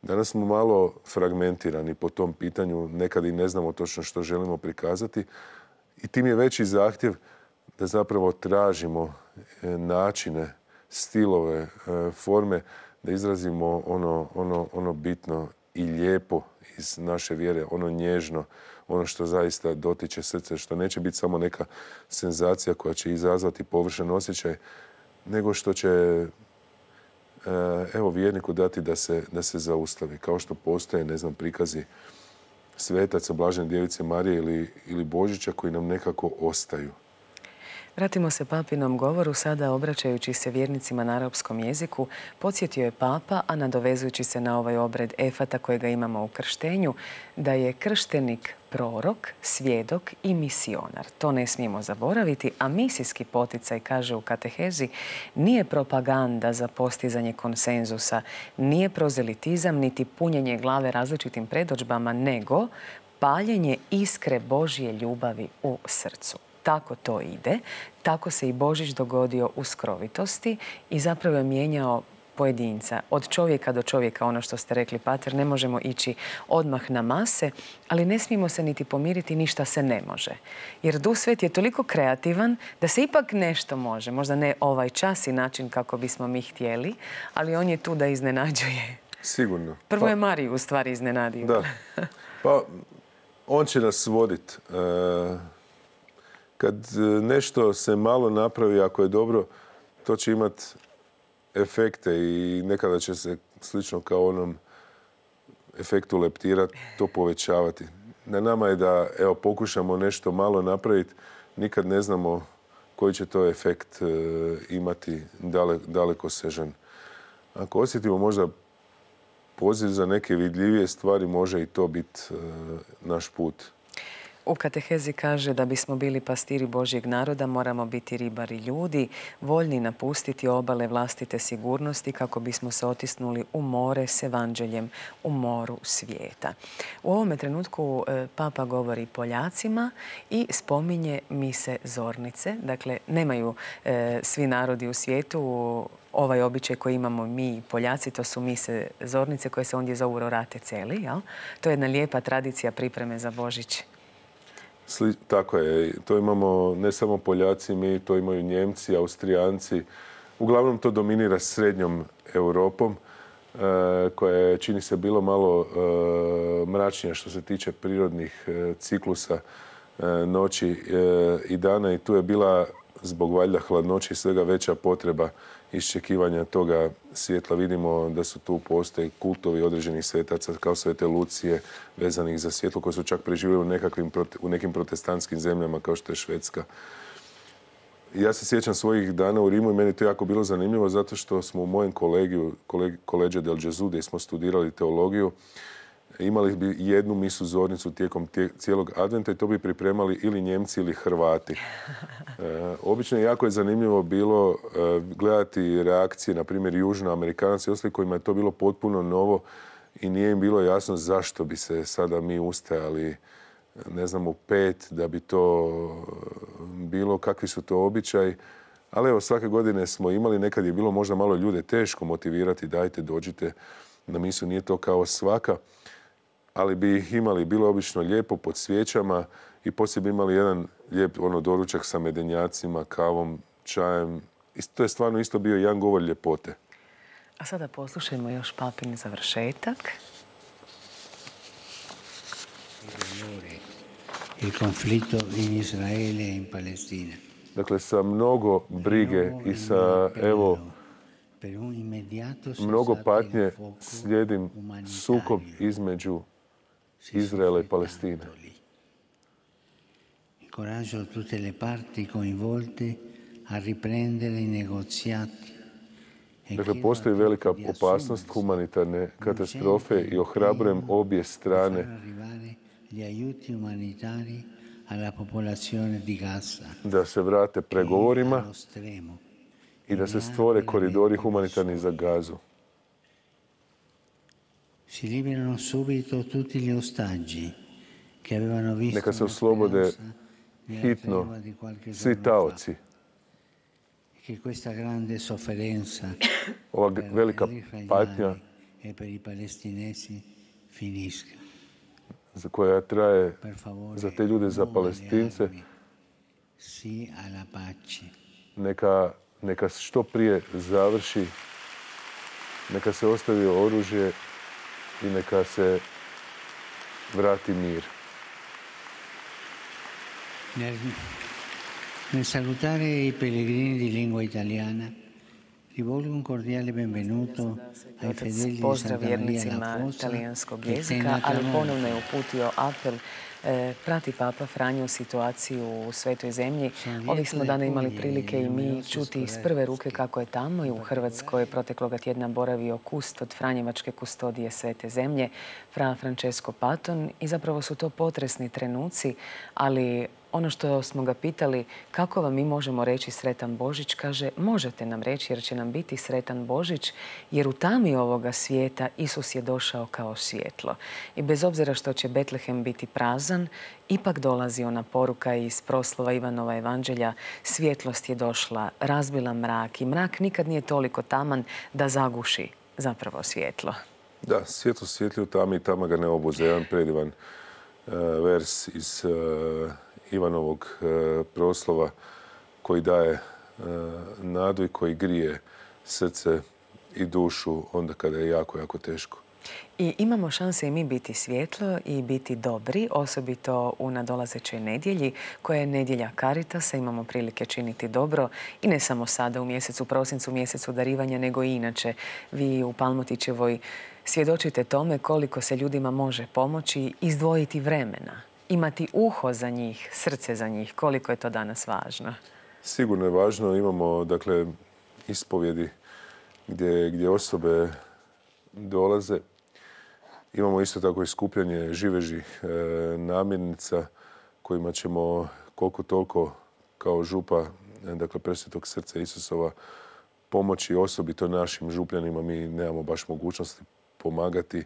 Speaker 2: Danas smo malo fragmentirani po tom pitanju, nekad i ne znamo točno što želimo prikazati i tim je veći zahtjev da zapravo tražimo načine, stilove, forme, da izrazimo ono bitno i lijepo iz naše vjere, ono nježno, ono što zaista dotiče srce, što neće biti samo neka senzacija koja će izazvati površan osjećaj, nego što će vjerniku dati da se zaustavi. Kao što postoje, prikazi svetaca, Blažene djevice Marije ili Božića koji nam nekako ostaju.
Speaker 1: Vratimo se papinom govoru, sada obraćajući se vjernicima na arapskom jeziku, podsjetio je papa, a nadovezujući se na ovaj obred efata kojega imamo u krštenju, da je krštenik prorok, svjedok i misionar. To ne smijemo zaboraviti, a misijski poticaj, kaže u katehezi, nije propaganda za postizanje konsenzusa, nije prozelitizam niti punjenje glave različitim predodžbama, nego paljenje iskre Božje ljubavi u srcu. Tako to ide, tako se i Božić dogodio u skrovitosti i zapravo je mijenjao pojedinca. Od čovjeka do čovjeka, ono što ste rekli, pater, ne možemo ići odmah na mase, ali ne smijemo se niti pomiriti, ništa se ne može. Jer Duh Sveti je toliko kreativan da se ipak nešto može. Možda ne ovaj čas i način kako bismo mi htjeli, ali on je tu da iznenađuje.
Speaker 2: Sigurno.
Speaker 1: Prvo je Mariju u stvari iznenadio.
Speaker 2: Da. Pa, on će nas voditi. Kad nešto se malo napravi, ako je dobro, to će imati efekte i nekada će se, slično kao onom efektu leptira, to povećavati. Na nama je da pokušamo nešto malo napraviti. Nikad ne znamo koji će to efekt imati dalekosežan. Ako osjetimo možda poziv za neke vidljivije stvari, može i to biti naš put.
Speaker 1: U katehezi kaže da bismo bili pastiri Božjeg naroda, moramo biti ribari ljudi, voljni napustiti obale vlastite sigurnosti kako bismo se otisnuli u more s evanđeljem, u moru svijeta. U ovome trenutku Papa govori Poljacima i spominje mise zornice. Dakle, nemaju svi narodi u svijetu ovaj običaj koji imamo mi Poljaci, to su mise zornice koje se ondje zovu rorate celi. To je jedna lijepa tradicija pripreme za Božić.
Speaker 2: Tako je. To imamo ne samo Poljaci, mi to imaju Njemci, Austrijanci. Uglavnom to dominira srednjom Europom, koja je, čini se, bilo malo mračnija što se tiče prirodnih ciklusa noći i dana. I tu je bila, zbog valjda hladnoće i svega, veća potreba iščekivanja toga svjetla. Vidimo da su tu postoje kultovi određenih svetaca kao Svete Lucije vezanih za svjetlo koji su čak preživjeli u nekim protestantskim zemljama kao što je Švedska. Ja se sjećam svojih dana u Rimu i meni to jako bilo zanimljivo zato što smo u mojem kolegiju, Collegio del Gesù, gdje smo studirali teologiju, imali bi jednu misu zornicu tijekom cijelog adventa i to bi pripremali ili Njemci ili Hrvati. Obično jako je zanimljivo bilo gledati reakcije, na primjer, Južnoamerikanaca i ostali kojima je to bilo potpuno novo i nije im bilo jasno zašto bi se sada mi ustajali, ne znam, u 5 da bi to bilo, kakvi su to običaji. Ali evo, svake godine smo imali, nekad je bilo možda malo ljude teško motivirati, dajte, dođite na misu, nije to kao svaka. Ali bi ih imali, bilo obično lijepo pod svijećama i poslije bi imali jedan lijep doručak sa medenjacima, kavom, čajem. I to je stvarno isto bio jedan govor ljepote.
Speaker 1: A sada poslušajmo još papin završetak.
Speaker 3: Il conflitto in Israele e in Palestina.
Speaker 2: Dakle, sa mnogo brige i sa, evo, mnogo patnje slijedim sukob između Izraela i Palestine.
Speaker 3: Incoraggio tutte le parti coinvolte a riprendere i negoziati.
Speaker 2: Dakle, postoji velika opasnost humanitarne katastrofe i ohrabrujem obje strane da se vrate pregovorima i da se stvore koridori humanitarni za Gazu. Neka se oslobode hitno svi taoci. Ova velika patnja za koja traje za te ljude, za Palestince, neka što prije završi, neka se ostavi oružje i neka se vrati mir.
Speaker 3: Nel salutare i pellegrini di lingua italiana,
Speaker 1: Otac pozdrav vjernicima talijanskog jezika, ali ponovno je uputio apel. Prati Papa Franjo situaciju u Svetoj zemlji. Ovih smo dana imali prilike i mi čuti iz prve ruke kako je tamo i u Hrvatskoj protekloga tjedna boravio kustod Franjevačke kustodije Svete zemlje, fra Francesco Paton, i zapravo su to potresni trenuci, ali ono što smo ga pitali kako vam mi možemo reći Sretan Božić, kaže možete nam reći jer će nam biti Sretan Božić, jer u tami ovoga svijeta Isus je došao kao svjetlo. I bez obzira što će Betlehem biti prazan, ipak dolazi ona poruka iz proslova Ivanova evanđelja: svjetlost je došla, razbila mrak, i mrak nikad nije toliko taman da zaguši zapravo svjetlo.
Speaker 2: Da, svjetlo svijetli u tami i tama ga ne obuze. Jedan predivan vers iz Ivanovog proslova koji daje nadu i koji grije srce i dušu onda kada je jako, jako teško.
Speaker 1: I imamo šanse i mi biti svjetlo i biti dobri, osobito u nadolazećoj nedjelji, koja je nedjelja Caritasa. Imamo prilike činiti dobro i ne samo sada u mjesecu prosincu, mjesecu darivanja, nego i inače. Vi u Palmotićevoj svjedočite tome koliko se ljudima može pomoći, izdvojiti vremena, imati uho za njih, srce za njih. Koliko je to danas važno?
Speaker 2: Sigurno je važno. Imamo, dakle, ispovjedi gdje osobe dolaze. Imamo isto tako i skupljanje živežih namirnica kojima ćemo koliko toliko kao župa, dakle, Presvetog srca Isusova, pomoći osobito našim župljanima. Mi nemamo baš mogućnosti pomagati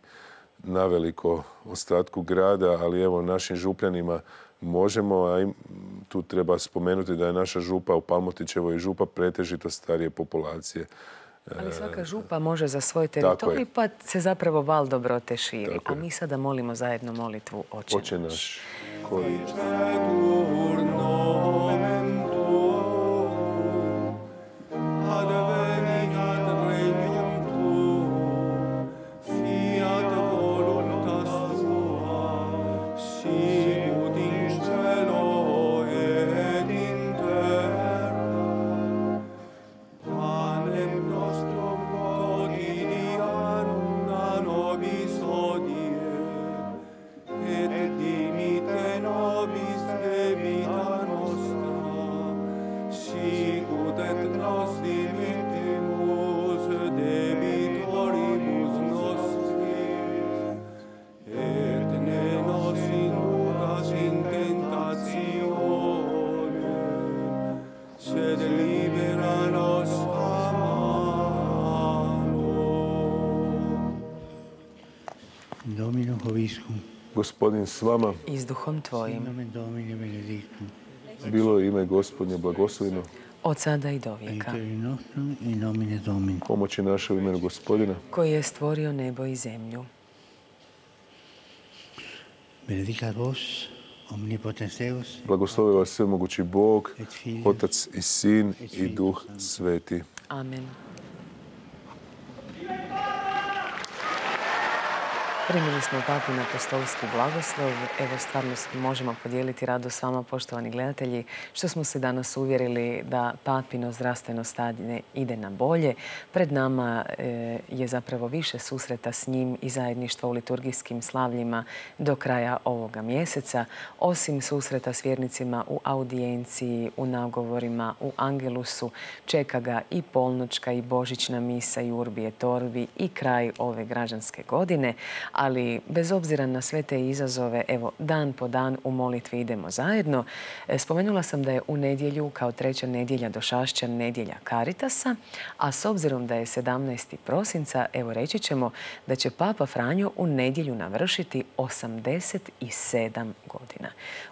Speaker 2: naveliko ostatku grada, ali evo našim župljanima možemo, a tu treba spomenuti da je naša župa u Palmotićevoj župa pretežito starije populacije.
Speaker 1: Ali svaka župa može za svoj teritorij, pa se zapravo val dobrote širi. A mi sada molimo zajedno molitvu Oče naš.
Speaker 2: Koji Gospodin s vama
Speaker 1: i s duhom tvojim.
Speaker 2: Bilo je ime Gospodnje blagoslovljeno
Speaker 1: od sada i do vijeka.
Speaker 2: Pomoći naše u imenu Gospodina
Speaker 1: koji je stvorio nebo i zemlju.
Speaker 2: Blagoslovi vas svemogući Bog, Otac i Sin i Duh Sveti.
Speaker 1: Amen. Primili smo Papin apostolski blagoslov. Evo, stvarno možemo podijeliti radost s vama, poštovani gledatelji, što smo se danas uvjerili da Papino zdravstveno stanje ide na bolje. Pred nama je zapravo više susreta s njim i zajedništva u liturgijskim slavljima do kraja ovoga mjeseca. Osim susreta s vjernicima u audijenciji, u nagovorima, u Angelusu, čeka ga i polnoćka i božićna misa i Urbi et Orbi i kraj ove građanske godine. Ali bez obzira na sve te izazove, evo, dan po dan u molitvi idemo zajedno. Spomenula sam da je u nedjelju, kao treća nedjelja došašćan, nedjelja Caritasa, a s obzirom da je 17. prosinca, evo, reći ćemo da će Papa Franjo u nedjelju navršiti 87 godina.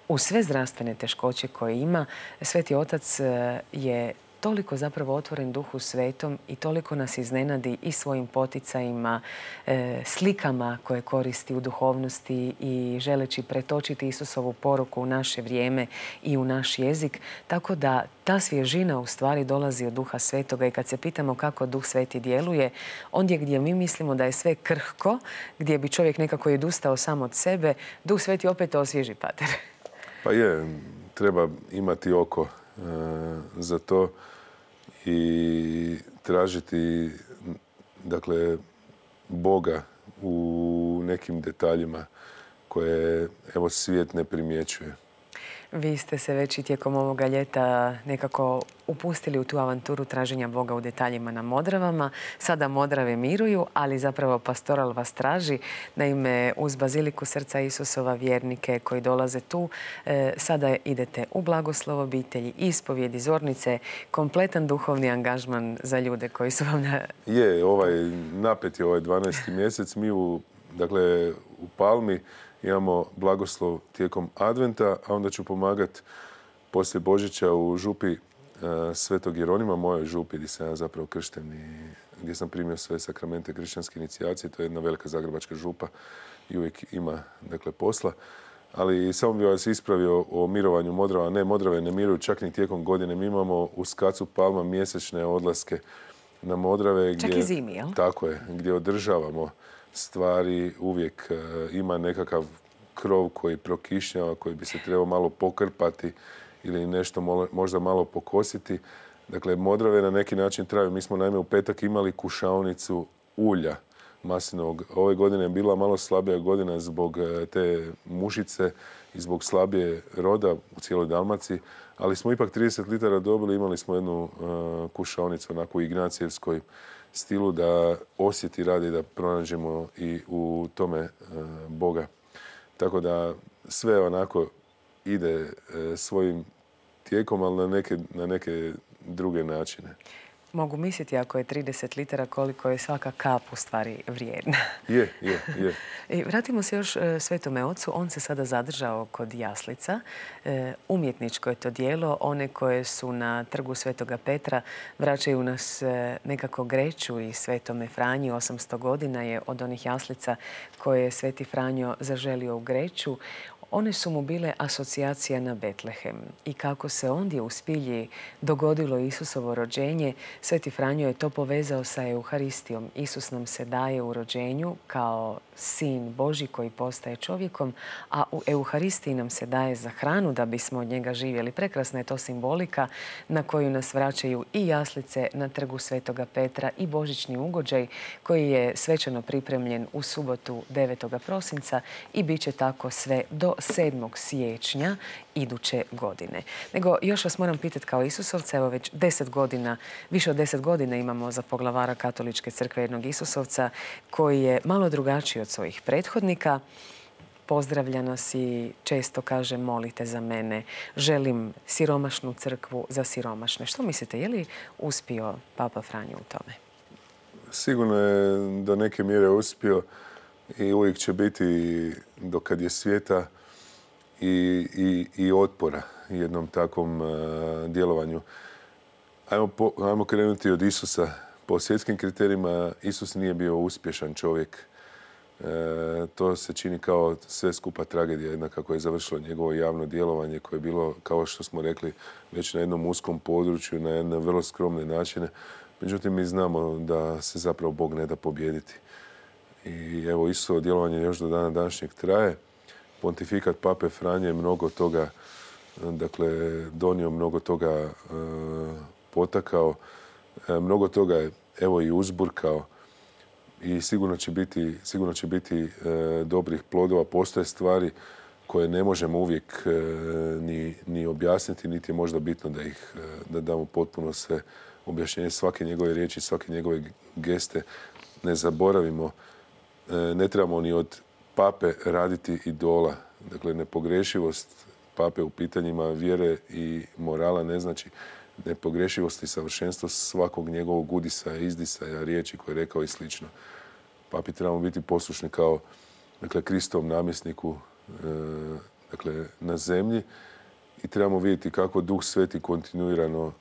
Speaker 1: Uz sve zdravstvene teškoće koje ima, Sveti Otac je toliko zapravo otvoren Duhu Svetom i toliko nas iznenadi i svojim poticajima, slikama koje koristi u duhovnosti i želeći pretočiti Isusovu poruku u naše vrijeme i u naš jezik. Tako da ta svježina u stvari dolazi od Duha Svetoga i kad se pitamo kako Duh Sveti djeluje, ondje gdje mi mislimo da je sve krhko, gdje bi čovjek nekako i odustao sam od sebe, Duh Sveti opet osvježi, pater.
Speaker 2: Pa je, treba imati oko za to i tražiti, dakle, Boga u nekim detaljima koje, evo, svijet ne primjećuje.
Speaker 1: Vi ste se već i tijekom ovoga ljeta nekako upustili u tu avanturu traženja Boga u detaljima na Modravama. Sada Modrave miruju, ali zapravo pastoral vas traži. Naime, uz Baziliku Srca Isusova, vjernike koji dolaze tu, sada idete u blagoslov obitelji, ispovjedi, zornice, kompletan duhovni angažman za ljude koji su vam
Speaker 2: napet je ovaj 12. mjesec. Mi u Palmi imamo blagoslov tijekom Adventa, a onda ću pomagati poslije Božića u župi Svetog Jeronima, mojoj župi gdje sam ja zapravo kršten i gdje sam primio sve sakramente kršćanske inicijacije. To je jedna velika zagrebačka župa i uvijek ima, posla. Ali samo bih vas ispravio o mirovanju Modrava. Ne, Modrave ne miruju čak ni tijekom godine. Mi imamo u Skacu Palma mjesečne odlaske na Modrave.
Speaker 1: Čak i zimi, jel?
Speaker 2: Tako je, gdje održavamo stvari, uvijek ima nekakav krov koji prokišnjava, koji bi se trebao malo pokrpati ili nešto možda malo pokositi. Dakle, Modrave na neki način traju. Mi smo naime u petak imali kušaonicu ulja maslinovog. Ove godine je bila malo slabija godina zbog te mušice i zbog slabije roda u cijeloj Dalmaciji, ali smo ipak 30 litara dobili. Imali smo jednu kušaonicu onako u ignacijevskoj stilu da osjeti radi, da pronađemo i u tome Boga. Tako da sve onako ide svojim tijekom, ali na neke druge načine.
Speaker 1: Mogu misliti ako je 30 litara koliko je svaka kap u stvari vrijedna.
Speaker 2: Je.
Speaker 1: I vratimo se još Svetome Ocu. On se sada zadržao kod jaslica. Umjetničko je to djelo. One koje su na trgu Svetoga Petra vraćaju nas nekako Greću i Svetome Franji. 800 godina je od onih jaslica koje je Sveti Franjo zaželio u Greću. One su mu bile asocijacija na Betlehem i kako se ondje u Spilji dogodilo Isusovo rođenje, Sveti Franjo je to povezao sa Euharistijom. Isus nam se daje u rođenju kao Sin Božji koji postaje čovjekom, a u Euharistiji nam se daje za hranu da bismo od njega živjeli. Prekrasna je to simbolika na koju nas vraćaju i jaslice na trgu Svetoga Petra i božićni ugođaj koji je svečano pripremljen u subotu 9. prosinca i bit će tako sve do 7. siječnja iduće godine. Nego još vas moram pitati kao Isusovca, evo već 10 godina, više od 10 godina imamo za poglavara Katoličke crkve jednog Isusovca koji je malo drugačiji od svojih prethodnika. Pozdravlja nas i često kaže molite za mene, želim siromašnu crkvu za siromašne. Što mislite, je li uspio Papa Franjo u tome?
Speaker 2: Sigurno je do neke mjere uspio i uvijek će biti dokad je svijeta i otpora jednom takvom djelovanju. Ajmo krenuti od Isusa. Po svjetskim kriterijima Isus nije bio uspješan čovjek. To se čini kao sve skupa tragedija, jedna kako je završilo njegovo javno djelovanje koje je bilo, kao što smo rekli, već na jednom uskom području, na jedne vrlo skromne načine. Međutim, mi znamo da se zapravo Bog ne da pobijediti. I evo, Isusovo djelovanje još do dana današnjeg traje. Pontifikat Pape Franje je mnogo toga, donio, mnogo toga potakao, mnogo toga je evo i uzburkao i sigurno će biti dobrih plodova. Postoje stvari koje ne možemo uvijek ni objasniti, niti je možda bitno da damo potpuno sve objašnjenje, svake njegove riječi, svake njegove geste. Ne zaboravimo, ne trebamo ni od Pape raditi idola. Dakle, nepogrešivost Pape u pitanjima vjere i morala ne znači nepogrešivost i savršenstvo svakog njegovog udisa, izdisaja, riječi koje je rekao i slično. Papi trebamo biti poslušni kao Kristovom namjesniku na zemlji i trebamo vidjeti kako Duh Sveti kontinuirano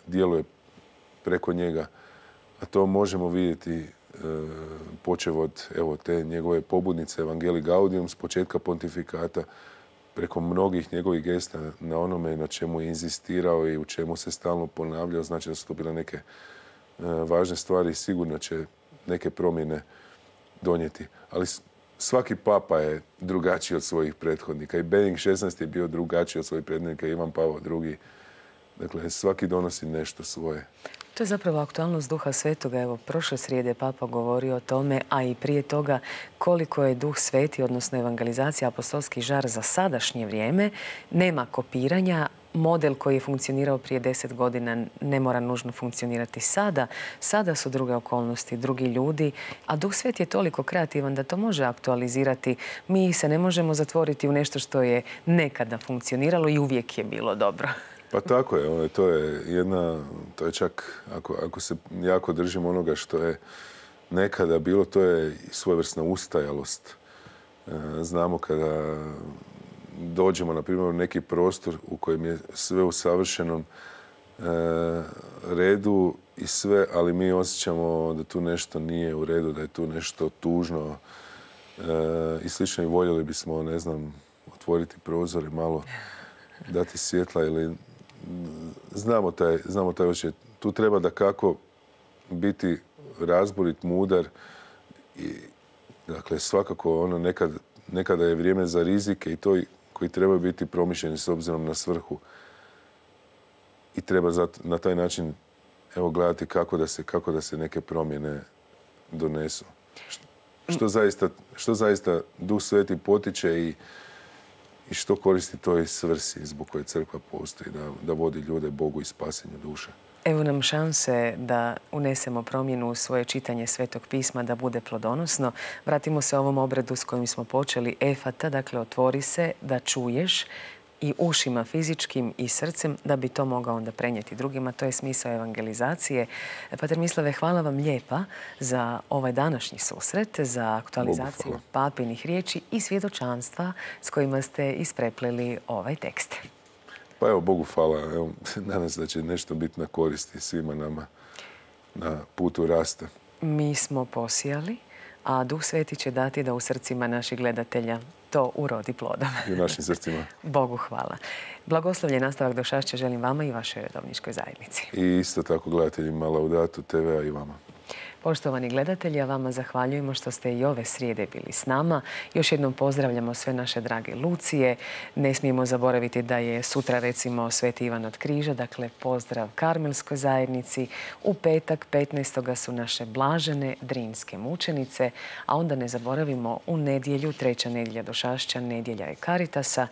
Speaker 2: djeluje preko njega. A to možemo vidjeti počev od te njegove pobudnice Evangelii Gaudium s početka pontifikata, preko mnogih njegovih gesta na onome na čemu je inzistirao i u čemu se stalno ponavljao. Znači da su to bile neke važne stvari i sigurno će neke promjene donijeti. Ali svaki papa je drugačiji od svojih prethodnika. I Benedikt XVI je bio drugačiji od svojih prethodnika, Ivan Pavao II Dakle, svaki donosi nešto svoje.
Speaker 1: To je zapravo aktualnost Duha Svetoga. Evo, prošle srijede Papa govorio o tome, a i prije toga koliko je Duh Sveti, odnosno evangelizacija, apostolski žar za sadašnje vrijeme. Nema kopiranja. Model koji je funkcionirao prije 10 godina ne mora nužno funkcionirati sada. Sada su druge okolnosti, drugi ljudi, a Duh Sveti je toliko kreativan da to može aktualizirati. Mi se ne možemo zatvoriti u nešto što je nekada funkcioniralo i uvijek je bilo dobro.
Speaker 2: Pa tako je, to je čak, ako se jako držimo onoga što je nekada bilo, to je svojevrsna ustajalost. Znamo kada dođemo, na primjer, u neki prostor u kojem je sve u savršenom redu i sve, ali mi osjećamo da tu nešto nije u redu, da je tu nešto tužno i slično, i voljeli bismo, ne znam, otvoriti prozore, malo dati svjetla ili znamo taj osjećaj. Tu treba da kako biti razborit, mudar i dakle svakako nekada je vrijeme za rizike i to koji trebaju biti promišljeni s obzirom na svrhu i treba na taj način gledati kako da se neke promjene donesu. Što zaista Duh Sveti potiče i što koristi toj svrsi zbog koje crkva postoji, da vodi ljude Bogu i spasenju duše.
Speaker 1: Evo nam šanse da unesemo promjenu u svoje čitanje Svetog pisma, da bude plodonosno. Vratimo se ovom obredu s kojim smo počeli, efata, dakle otvori se da čuješ i ušima fizičkim i srcem da bi to mogao onda prenijeti drugima. To je smisao evangelizacije. Pater Mislave, hvala vam lijepa za ovaj današnji susret, za aktualizaciju papinih riječi i svjedočanstva s kojima ste ispreplili ovaj tekst.
Speaker 2: Pa evo, Bogu hvala. Evo, nadam se da će nešto biti na koristi svima nama na putu rasta.
Speaker 1: Mi smo posijali, a Duh Sveti će dati da u srcima naših gledatelja to urodi plodom.
Speaker 2: I u našim srcima.
Speaker 1: Bogu hvala. Blagoslovljen nastavak došašća želim vama i vašoj redovničkoj zajednici.
Speaker 2: I isto tako gledateljima Laudatu TV-a i vama.
Speaker 1: Poštovani gledatelji, a vama zahvaljujemo što ste i ove srijede bili s nama. Još jednom pozdravljamo sve naše drage Lucije. Ne smijemo zaboraviti da je sutra, recimo, Sveti Ivan od Križa, dakle pozdrav Karmelskoj zajednici. U petak 15. su naše blažene drinske mučenice, a onda ne zaboravimo u nedjelju, 3. nedjelja došašća, nedjelja je Karitasa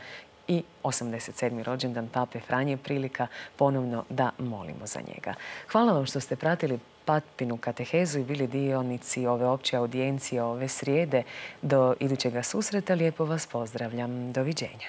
Speaker 1: i 87. rođendan Pape Franje, prilika ponovno da molimo za njega. Hvala vam što ste pratili Papinu katehezu i bili dionici ove opće audijencije ove srijede. Do idućega susreta lijepo vas pozdravljam. Doviđenja.